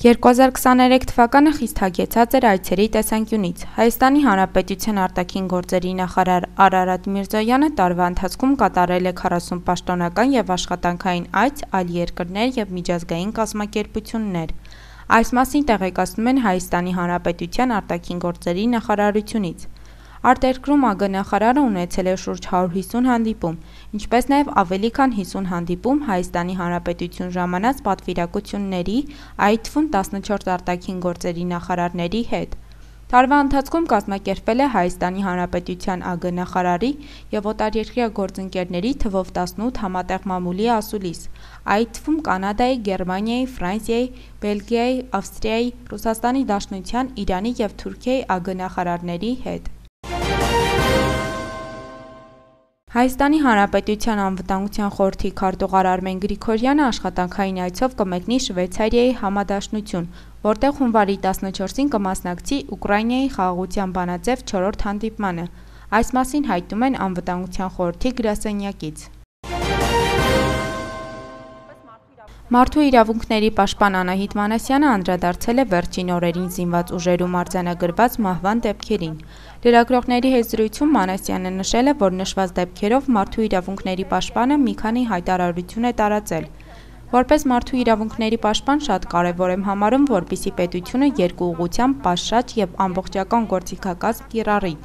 2023 թվականը խիստ հագեցած էր այցերի տեսանկյունից։ Հայաստանի Հանրապետության արտաքին գործերի նախարար Արարատ Միրզոյանը տարվա ընթացքում կատարել է 40 պաշտոնական եւ աշխատանքային այց այլ երկրներ եւ միջազգային կազմակերպություններ։ Այս մասին տեղեկացնում են Հայաստանի Հանրապետության արտաքին գործերի նախարարությունից։ Արտերկրում ԱԳ նախարարը ունեցել է շուրջ 150 հանդիպում, ինչպես նաև ավելի քան 50 հանդիպում Հայաստանի Հանրապետություն ժամանած պատվիրակությունների, այդ թվում 14 արտաքին գործերի նախարարների հետ։ Տարվա ընթացքում կազմակերպվել է Հայաստանի Հանրապետության ԱԳ նախարարի եւ օտարերկրյա գործընկերների թվով 18 համատեղ մամուլի ասուլիս, այդ թվում Կանադայի, Գերմանիայի, Ֆրանսիայի, Բելգիայի, Ավստրիայի, Ռուսաստանի Դաշնության, Իրանի եւ Թուրքիայի ԱԳ նախարարների հետ։ Հայաստանի Հանրապետության անվտանգության խորհրդի քարտուղար Արմեն Գրիգորյանը աշխատանքային այցով կմեկնի Շվեյցարիայի համադաշնություն, որտեղ հունվարի 14-ին կմասնակցի Ուկրաինայի խաղաղության բանաձև 4-րդ հանդիպմանը։ Այս մասին հայտնում են անվտանգության խորհրդի գրասենյակից։ Մարդու իրավունքների պաշտպան Անահիտ Մանասյանը անդրադարձել է վերջին օրերին զինված ուժերում արձանագրված մահվան դեպքերին։ Լրագրողների հետ զրույցում Մանասյանը նշել է, որ նշված դեպքերով մարդու իրավունքների պաշտպանը մի քանի հայտարարություն է տարածել։ Որպես մարդու իրավունքների պաշտպան շատ կարևոր եմ համարում, որպեսզի պետությունը երկու ուղղությամբ պատշաճ եւ ամբողջական գործիքակազմ կիրառի։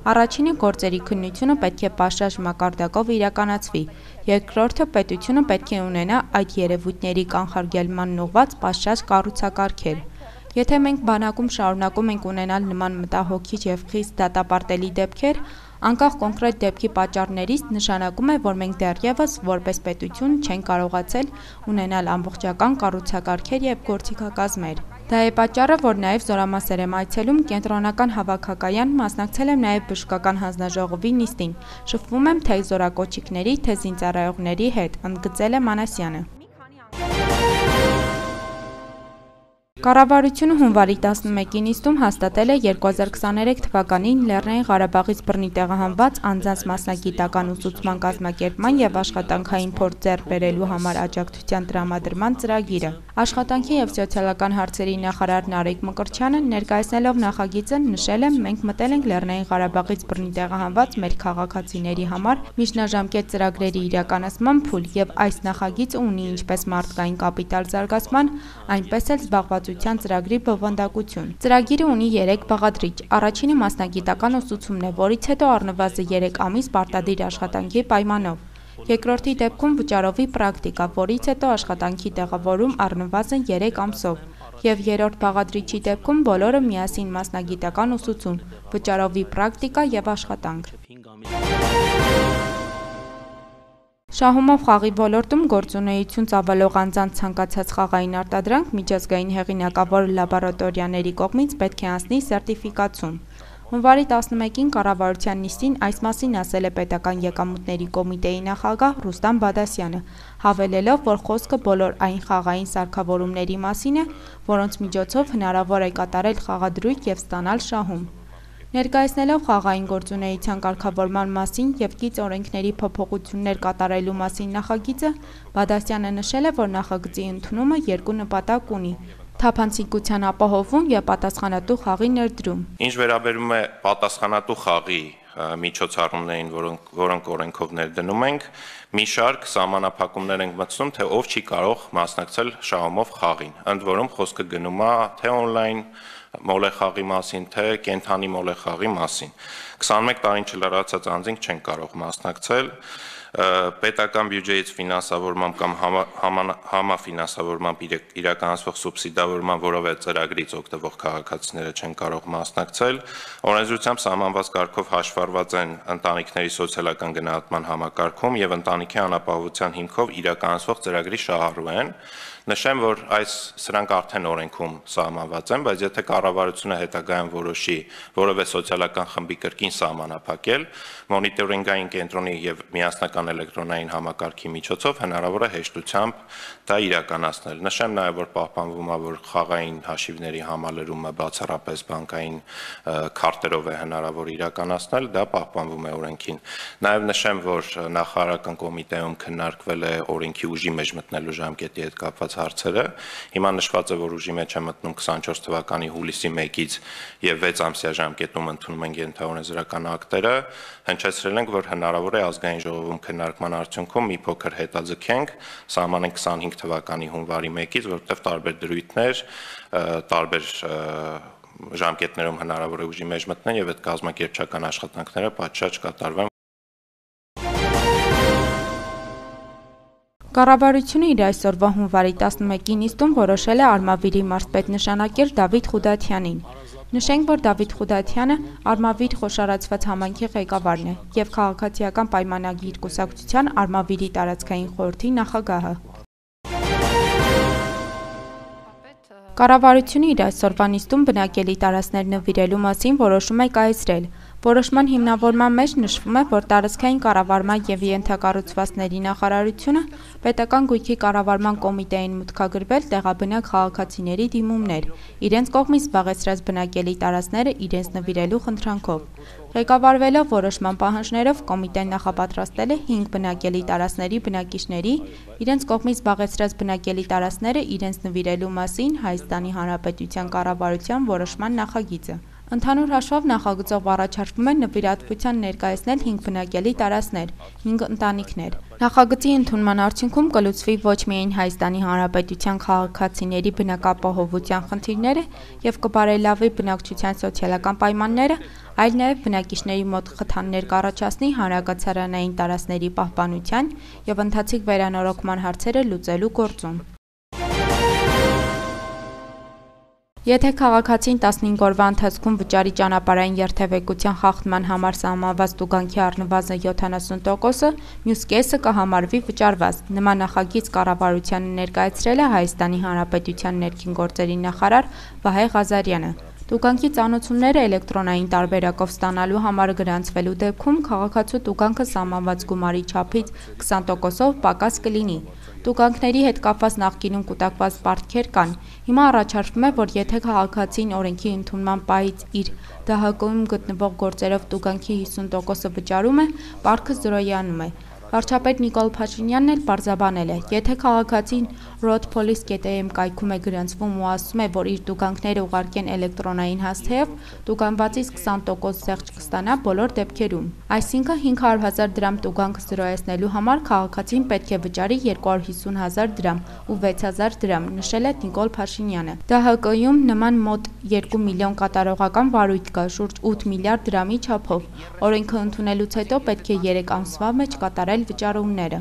Առաջինը գործերի քննությունը պետք է պատշաճ մակարդակով իրականացվի, երկրորդը պետությունը պետք է ունենա այդ երևույթների կանխարգելման ուղղված պատշաճ կառուցակարգեր։ Եթե մենք բանակում շարունակում ենք ունենալ նման մտահոգիչ եւ խիստ դատապարտելի դեպքեր, անկախ կոնկրետ դեպքի պատճառներից, նշանակում է, որ մենք դեռևս որպես պետություն չենք կարողացել ունենալ ամբողջական կառուցակարգեր եւ գործիքակազմեր։ Դա է պատճառը, որ նաև զորամասեր եմ այցելում կենտրոնական հավաքակայան, մասնակցել եմ նաև բժշկական հանձնաժողովի նիստին, շփվում եմ թե զորակոչիկների, թե զինծառայողների հետ, ընդգծել է Մանասյանը։ Կառավարությունը հունվարի 11-ի նիստում հաստատել է 2023 թվականին Լեռնային Ղարաբաղից բռնի տեղահանված անձանց մասնագիտական ուսուցման կազմակերպման եւ աշխատանքային փորձ ձեռք բերելու համար աջակցության տրամադրման ծրագիրը։ Աշխատանքի եւ սոցիալական հարցերի նախարար Նարեկ Մկրտչյանը ներկայացնելով նախագիծը նշել է, մենք մտել ենք Լեռնային Ղարաբաղից բռնի տեղահանված մեր քաղաքացիների համար միջնաժամկետ ծրագրերի իրականացման փուլ եւ այս նախագիծը ունի ինչպես մարդկային կապիտալ զարգացման, այնպես էլ զբաղվածության ծրագրի բովանդակություն։ Ծրագիրը ունի 3 բաղադրիչ։ Առաջինը մասնագիտական ուսուցումն է, որից հետո առնվազն 3 ամիս պարտադիր աշխատանքի պայմանով։ Երկրորդի դեպքում վճարովի պրակտիկա, որից հետո աշխատանքի տեղավորում առնվազն 3 ամսով։ Եվ երրորդ բաղադրիչի դեպքում բոլորը միասին մասնագիտական ուսուցում, վճարովի պրակտիկա եւ աշխատանք։ Շահումով խաղի ոլորտում գործունեություն ծավալող անձանց ցանկացած խաղային արտադրանք միջազգային հեղինակավոր լաբորատորիաների կողմից պետք է անցնի սերտիֆիկացում։ Հունվարի 11-ին կառավարության նիստին այս մասին ասել է Պետական եկամուտների կոմիտեի նախագահ Ռուստամ Բադասյանը, հավելելով, որ խոսքը բոլոր այն խաղային սարքավորումների մասին է, որոնց միջոցով հնարավոր է կատարել խաղադրույք եւ ստանալ շահում։ Ներկայացնելով խաղային գործունեության կարգավորման մասին եւ կից օրենքների փոփոխություններ կատարելու մասին նախագիծը, Բադասյանը նշել է, որ նախագծի ընդունումը երկու նպատակ ունի՝ թափանցիկության ապահովում եւ պատասխանատու խաղի ներդրում։ Ինչ վերաբերում է պատասխանատու խաղի միջոցառումներին, որոնք օրենքով ներդնում ենք, մի շարք սահմանափակումներ ենք մտցնում, թե ով չի կարող մասնակցել շահումով խաղին։ Ընդ որում խոսքը գնում է թե on-line մոլեխաղի մասին, թե կենթանի մոլեխաղի մասին։ 21 տարին չլրացած անձինք չեն կարող մասնակցել, պետական բյուջեից ֆինանսավորմամբ կամ համաֆինանսավորմամբ իրականացվող սուբսիդավորման որևէ ծրագրից օգտվող քաղաքացիները չեն կարող մասնակցել, օրենսդրությամբ սահմանված կարգով հաշվառված են ընտանիքների սոցիալական գնահատման համակարգում եւ ընտանիքի անապահովության հիմքով իրականացվող ծրագրի շահառու են։ Նշեմ, որ սրանք արդեն օրենքում սահմանված են, բայց եթե կառավարությունը հետագայում որոշի որևէ սոցիալական խմբի կրկին սահմանափակել, մոնիտորինգային կենտրոնի եւ միասնական էլեկտրոնային համակարգի միջոցով հնարավոր է հեշտությամբ դա իրականացնել։ Նշեմ նաեւ, որ պահպանվում է, որ խաղային հաշիվների համալրումը բացառապես բանկային քարտերով է հնարավոր իրականացնել, դա պահպանվում է օրենքին։ Նաեւ նշեմ, որ նախարարական կոմիտեում քննարկվել է օրենքի ուժի մեջ մտնելու ժամկետի հետ կապված հարցերը։ Հիմա նշված է, որ ուժի մեջ է մտնում 24 թվականի հուլիսի 1-ից եւ 6 ամսյա ժամկետում ընդունում են ենթաօրենսդրական ակտերը։ Հնչեցրել ենք, որ հնարավոր է ազգային ժողովում քննարկման արդյունքում մի փոքր հետաձգենք, սահմանենք 25 թվականի հունվարի 1-ից, որտեղ տարբեր դրույթներ, տարբեր ժամկետներում հնարավոր է ուժի մեջ մտնեն եւ այդ կազմակերպչական աշխատանքները պատշաճ կատարվեն։ Կառավարությունը իր այսօրվա հունվարի 11-ի նիստում որոշել է Արմավիրի մարզպետ նշանակել Դավիթ Խուդաթյանին։ Նշենք, որ Դավիթ Խուդաթյանը Արմավիր խոշորացված համայնքի ղեկավարն է եւ քաղաքացիական պայմանագիր կուսակցության Արմավիրի տարածքային խորհրդի նախագահը։ Կառավարությունը իր այսօրվա նիստում բնակելի տարածքներ նվիրելու մասին որոշում է կայացրել։ Որոշման հիմնավորման մեջ նշվում է, որ տարածքային կառավարման եւ ենթակառուցվածքների նախարարությունը պետական գույքի կառավարման կոմիտեին մուտքագրվել տեղաբնակ քաղաքացիների դիմումներ, իրենց կողմից զբաղեցրած բնակելի տարածքները իրենց նվիրելու խնդրանքով։ Ղեկավարվելով որոշման պահանջներով կոմիտեն նախապատրաստել է 5 բնակելի տարածքների բնակիչների իրենց կողմից զբաղեցրած բնակելի տարածքները իրենց նվիրելու մասին Հայաստանի Հանրապետության կառավարության որոշման նախագիծը։ Ընդհանուր հաշվով նախագծով առաջարկվում է նվիրատվության ներկայացնել 5 բնակելի տարածքներ, 5 ընտանիքներ։ Նախագծի ընդունման արդյունքում կլուծվի ոչ միայն Հայաստանի Հանրապետության քաղաքացիների բնակապահովության խնդիրները եւ կբարելավի բնակչության սոցիալական պայմանները, այլ նաեւ բնակիչների մոտ խթաններ կառաջացնի հանրակացարանային տարածքների պահպանության եւ ընթացիկ վերանորոգման հարցերը լուծելու գործում։ Եթե քաղաքացին 15 օրվա ընթացքում վճարի ճանապարհային երթևեկության խախտման համար սահմանված տուգանքի առնվազն 70%-ը, մյուս կեսը կհամարվի վճարված։ Նման նախագիծ կառավարությանը ներկայացրել է Հայաստանի Հանրապետության ներքին գործերի նախարար Վահե Ղազարյանը։ Տուգանքի ծանուցումները էլեկտրոնային տարբերակով ստանալու համար գրանցվելու դեպքում քաղաքացու տուգանքը սահմանված գումարի չափից 20%-ով պակաս կլինի։ Տուգանքների հետ կապված նախկինում կուտակված պարտքեր կան։ Հիմա առաջարկվում է, որ եթե քաղաքացին օրենքի ընդունման պահից իր ԴՀԿ-ում գտնվող գործերով տուգանքի 50%-ը վճարում է, պարտքը զրոյանում է։ Վարչապետ Նիկոլ Փաշինյանն էլ պարզաբանել է, եթե քաղաքացին roadpolice.am կայքում է գրանցվում ու ասում է, որ իր տուգանքները ուղարկեն էլեկտրոնային հասցեով, տուգանվածից 20% զեղչ կստանա բոլոր դեպքերում։ Այսինքն 500,000 դրամ տուգանք զրոյացնելու համար քաղաքացին պետք է վճարի 250,000 դրամ ու 6,000 դրամ, նշել է Նիկոլ Փաշինյանը։ ԴՀԿ-ում նման մոտ 2 միլիոն կատարողական վարույթ կա, շուրջ 8 միլիարդ դրամի չափով։ Օրենքը ընդունելուց հետո պետք է 3 ամսվա մեջ կատարել վճարումները։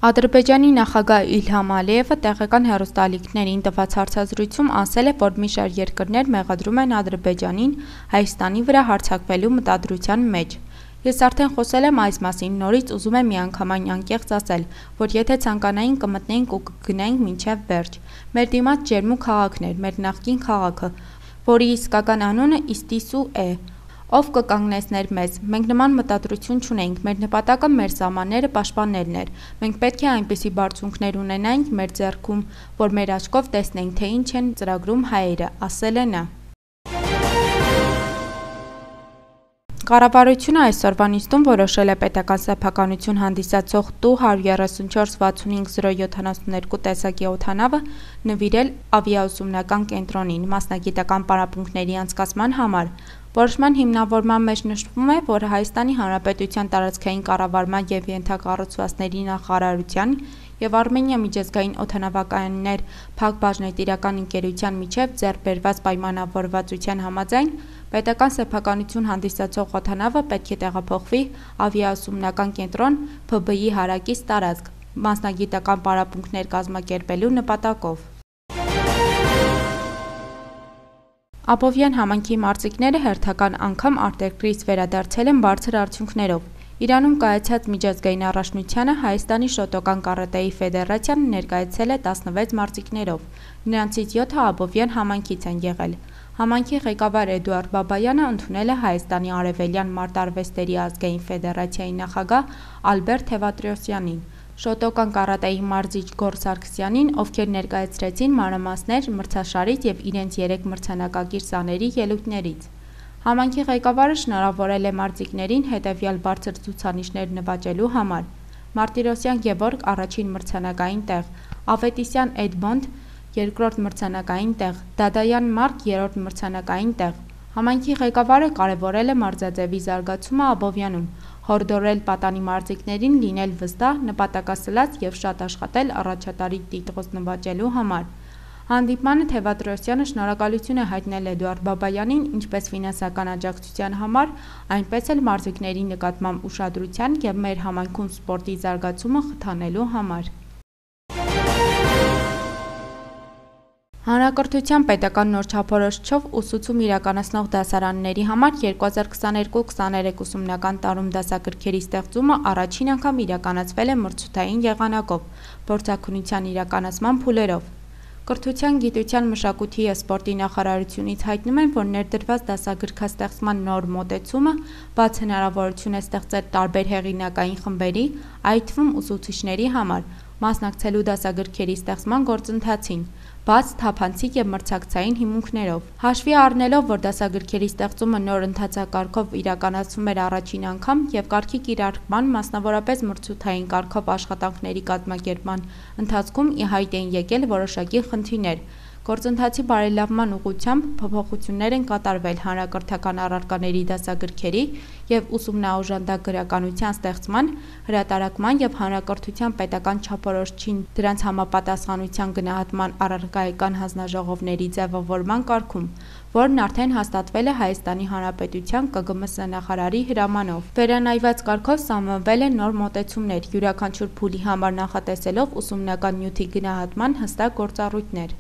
Ադրբեջանի նախագահ Իլհամ Ալիևը տեղական հեռուստաալիքներին տված հարցազրույցում ասել է, որ մի շարք երկրներ մեղադրում են Ադրբեջանին Հայաստանի վրա հարձակվելու մտադրության մեջ։ Ես արդեն խոսել եմ այս մասին, նորից ուզում եմ միանգամայն անկեղծ ասել, որ եթե ցանկանային կմտնեինք ու կգնայինք մինչև վերջ։ Մեր դիմաց ջերմու քաղաքն էր, մեր նախկին քաղաքը, որի իսկական անունը Իստիսու է։ Ով կկանգնեցներ մեզ։ Մենք նման մտադրություն չունենք, մեր նպատակը մեր սահմանները պաշտպանելն էր։ Մենք պետք է այնպիսի բարձունքներ ունենայինք մեր ձեռքում, որ մեր աչքով տեսնենք, թե ինչ են ծրագրում հայերը, ասել է նա։ Կառավարությունը այսօրվա նիստում որոշել է պետական սեփականություն հանդիսացող TU 133-65072 տեսակի օդանավը նվիրել ավիաուսումնական կենտրոնին մասնագիտական պարապմունքների անցկացման համար։ Որոշման հիմնավորման մեջ նշվում է, որ Հայաստանի Հանրապետության տարածքային կառավարման եւ ենթակառուցվածքների նախարարության եւ Արմենիա միջազգային օդանավակայաններ Փակ բաժնետիրական ընկերության միջև ձեռք բերված պայմանավորվածության համաձայն պետական սեփականություն հանդիսացող օդանավը պետք է տեղափոխվի ավիաուսումնական կենտրոն ՓԲ-ի հարակից տարածք մասնագիտական պարապմունքներ կազմակերպելու նպատակով։ Աբովյան համայնքի մարզիկները հերթական անգամ արտերկրից վերադարձել են բարձր արդյունքներով։ Իրանում կայացած միջազգային առաջնությանը Հայաստանի շոտոկան կարատեի ֆեդերացիան ներկայացել է 16 մարզիկներով։ Նրանցից 7-ը Աբովյան համայնքից են եղել։ Համայնքի ղեկավար Էդուարդ Բաբայանը ընդունել է Հայաստանի Արևելյան մարտարվեստերի ազգային ֆեդերացիայի նախագահ Ալբերտ Թևատրոսյանին, շոտոկան կարատեի մարզիչ Գոր Սարգսյանին, ովքեր ներկայացրեցին մանրամասներ մրցաշարից եւ իրենց 3 մրցանակակիր սաների ելույթներից։ Համայնքի ղեկավարը շնորհավորել է մարզիկներին հետևյալ բարձր ցուցանիշներ նվաճելու համար։ Մարտիրոսյան Գևորգ առաջին մրցանակային տեղ, Ավետիսյան Էդմոնդ երկրորդ մրցանակային տեղ, Դադայան Մարկ երրորդ մրցանակային տեղ։ Համայնքի ղեկավարը կարևորել է մարզաձևի զարգացումը Աբովյանում, հորդորել պատանի մարզիկներին լինել վստահ, նպատակասլաց եւ շատ աշխատել առաջատարի տիտղոս նվաճելու համար։ Հանդիպմանը Թևադրոսյանը շնորհակալություն է հայտնել Էդուարդ Բաբայանին ինչպես ֆինանսական աջակցության համար, այնպես էլ մարզիկների նկատմամբ ուշադրության եւ մեր համայնքում սպորտի զարգացումը խթանելու համար։ Հանրակրթության պետական նոր չափորոշիչով ուսուցում իրականացնող դասարանների համար 2022-23 ուսումնական տարում դասագրքերի ստեղծումը առաջին անգամ իրականացվել է մրցութային եղանակով, փորձաքննության իրականացման փուլերով։ Կրթության, գիտության, մշակույթի և սպորտի նախարարությունից հայտնում են, որ ներդրված դասագրքաստեղծման նոր մոտեցումը բաց հնարավորություն է ստեղծել տարբեր հեղինակային խմբերի, այդ թվում ուսուցիչների համար, մասնակցելու դասագրքերի ստեղծման գործընթացին, բաց, թափանցիկ և մրցակցային հիմունքներով։ Հաշվի առնելով, որ դասագրքերի ստեղծումը նոր ընթացակարգով իրականացվում էր առաջին անգամ և կարգի կիրառման, մասնավորապես մրցութային կարգով աշխատանքների կազմակերպման ընթացքում ի հայտ էին եկել որոշակի խնդիրներ։ Գործընթացի բարելավման ուղղությամբ փոփոխություններ են կատարվել հանրակրթական առարկաների դասագրքերի և ուսումնաօժանդակ գրականության ստեղծման, հրատարակման և հանրակրթության պետական չափորոշիչին դրանց համապատասխանության գնահատման առարկայական հանձնաժողովների ձևավորման կարգում, որն արդեն հաստատվել է Հայաստանի Հանրապետության ԿԳՄՍ նախարարի հրամանով։ Վերանայված կարգով սահմանվել են նոր մոտեցումներ, յուրաքանչյուր փուլի համար նախատեսելով ուսումնական նյութի գնահատման հստակ գործառույթներ։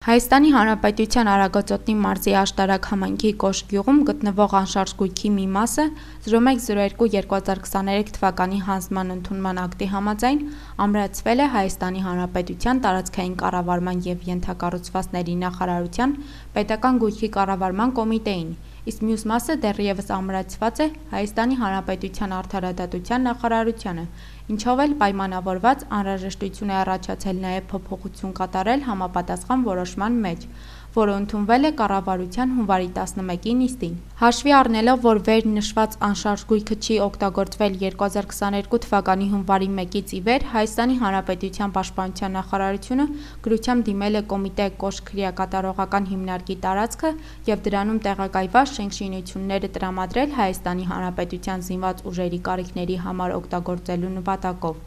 Հայաստանի Հանրապետության Արագածոտնի մարզի Աշտարակ համայնքի Կոշ գյուղում գտնվող անշարժ գույքի մի մասը 0102-2023 թվականի հանձնման ընդունման ակտի համաձայն ամրացվել է Հայաստանի Հանրապետության տարածքային կառավարման և ենթակառուցվածքների նախարարության պետական գույքի կառավարման կոմիտեին, իսկ մյուս մասը դեռևս ամրացված է Հայաստանի Հանրապետության արդարադատության նախարարությանը, ինչով էլ պայմանավորված անհրաժեշտություն է առաջացել նաև փոփոխություն կատարել համապատասխան որոշման մեջ, որը ընդունվել է կառավարության հունվարի 11-ի նիստին։ Հաշվի առնելով, որ վերնշված անշարժ գույքը չի օգտագործվել 2022 թվականի հունվարի 1-ից ի վեր, Հայաստանի Հանրապետության Պաշտպանության նախարարությունը գրությամբ դիմել է կոմիտե Կոշ քրեակատարողական հիմնարկի տարածքը և դրանում տեղակայված շինությունները տրամադրել Հայաստանի Հանրապետության զինված ուժերի կարիքների համար օգտագործելու նպատակով,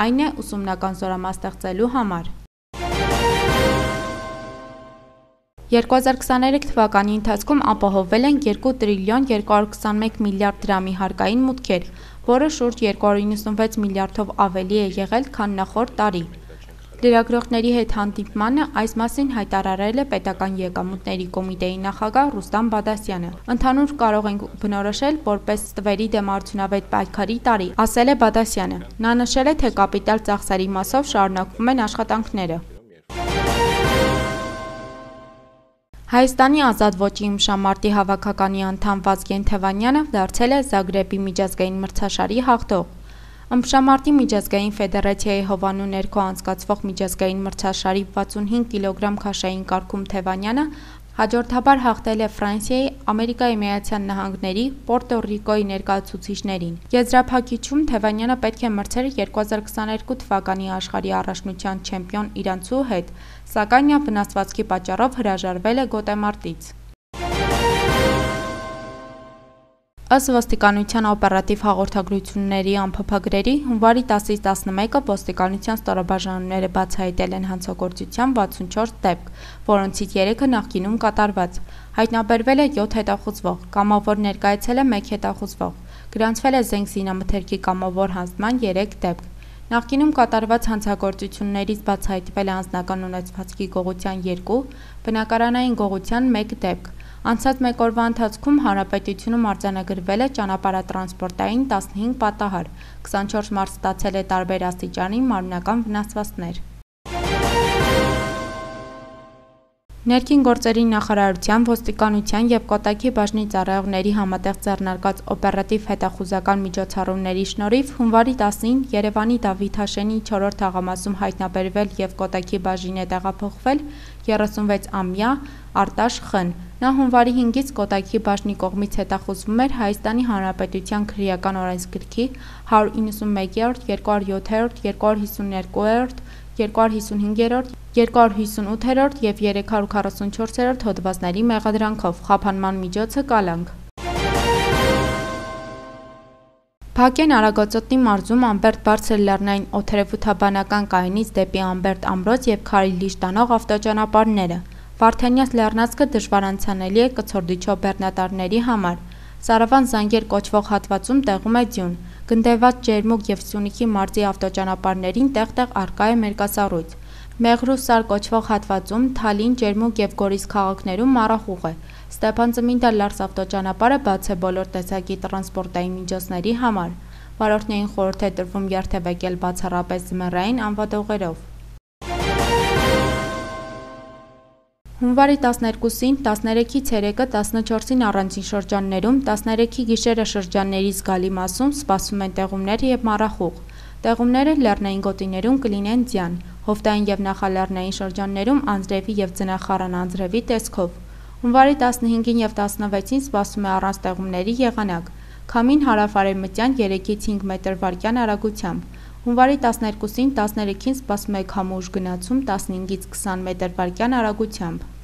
այն է ուսումնական զորամաս ստեղծելու համար։ 2023 թվականի ընթացքում ապահովվել են 2 տրիլիոն 221 միլիարդ դրամի հարկային մուտքեր, որը շուրջ 296 միլիարդով ավելի է եղել, քան նախորդ տարի։ Լրագրողների հետ հանդիպմանը այս մասին հայտարարել է պետական եկամուտների կոմիտեի նախագահ Ռուստամ Բադասյանը։ Ընդհանուր կարող ենք բնորոշել որպես ստվերի դեմ արդյունավետ պայքարի տարի, ասել է Բադասյանը։ Նա նշել է, թե կապիտալ ծախսերի մասով շարունակվում են աշխատանքները։ Հայաստանի ազատ ոճի ըմբշամարտի հավաքականի անդամ Վազգեն Թևանյանը դարձել է Զագրեբի միջազգային մրցաշարի հաղթող։ Ըմբշամարտի միջազգային ֆեդերացիայի հովանու ներքո անցկացվող միջազգային մրցաշարի 65 կիլոգրամ քաշային կարգում Թևանյանը հաջորդաբար հաղթել է Ֆրանսիայի, Ամերիկայի Միացյալ Նահանգների, Պորտո Ռիկոյի ներկայացուցիչներին։ Եզրափակիչում Թևանյանը պետք է մրցեր 2022 թվականի աշխարհի առաջնության չեմպիոն իրանցու հետ, սակայն նա վնասվածքի պատճառով հրաժարվել է գոտեմարտից։ Ըստ ոստիկանության օպերատիվ հաղորդագրությունների անփոփագրերի հունվարի 10-ից 11-ը ոստիկանության ստորաբաժանումները բացահայտել են հանցագործության 64 դեպք, որոնցից 3-ը նախկինում կատարված։ Հայտնաբերվել է 7 հետախուզվող, կամավոր ներկայացել է 1 հետախուզվող, գրանցվել է զենք զինամթերքի կամավոր հանձնման 3 դեպք։ Նախկինում կատարված հանցագործություններից բացահայտվել է անձնական ունեցվածքի գողության 2, բնակարանային գողության 1 դեպք։ Անցած մեկ օրվա ընթացքում հանրապետությունում արձանագրվել է ճանապարհատրանսպորտային 15 պատահար, 24 մարդ ստացել է տարբեր աստիճանի մարմնական վնասվածքներ։ Ներքին գործերի նախարարության, ոստիկանության և Կոտայքի բաժնի ծառայողների համատեղ ձեռնարկած օպերատիվ հետախուզական միջոցառումների շնորհիվ հունվարի 10-ին Երևանի Դավիթ Հաշենի 4-րդ թաղամասում հայտնաբերվել և Կոտայքի բաժին է տեղափոխվել 36-ամյա Արտաշ Խ-ն, Նա հունվարի 5-ից Կոտայքի բաժնի կողմից հետախուզվում էր Հայաստանի Հանրապետության քրեական օրենսգրքի 191-րդ, 207-րդ, 252-րդ, 255-րդ, 258-րդ և 344-րդ հոդվածների մեղադրանքով, խափանման միջոցը կալանք։ Փակեն Արագածոտնի մարզում Ամբերտ բարձր լեռնային օդերևութաբանական կայանից դեպի Ամբերտ ամրոց և Քարիլիշ տանող ավտոճանապարհները։ Վարդենյաց լեռնանցքը դժվար անցանելի է կցորդիչով բեռնատարների համար։ Սարավան Զանգեր կոչվող հատվածում տեղում է ձյուն։ Գնդեված Ջերմուկ և Սյունիքի մարզի ավտոճանապարհներին տեղ-տեղ առկա է մերկասառույց։ Մեղրուսար կոչվող հատվածում Թալին, Ջերմուկ և Գորիս քաղաքներում մառախուղ է։ Ստեփանցմինդա-Լարս ավտոճանապարհը բաց է բոլոր տեսակի տրանսպորտային միջոցների համար։ Վարորդներին խորհուրդ է տրվում երթևեկել բացառապես ձմեռային անվադողերով։ Հունվարի 12-ին, 13-ից 3-ը, 14-ին առանձին շրջաններում, 13-ի գիշերը շրջանների զգալի մասում սպասվում են տեղումներ և մառախուղ։ Տեղումները լեռնային գոտիներում կլինեն ձյան, հովտային և նախալեռնային շրջաններում անձրևի և ձնախառն անձրևի տեսքով։ Հունվարի 15-ին և 16-ին սպասվում է առանց տեղումների եղանակ։ Քամին հարավ-արևմտյան 3-ից 5 մետր/վայրկյան արագությամբ։ Հունվարի 12-ին, 13-ին սպասվում է քամու ուժ գնացում 15-ից 20 մետր/վայրկյան արագությամբ։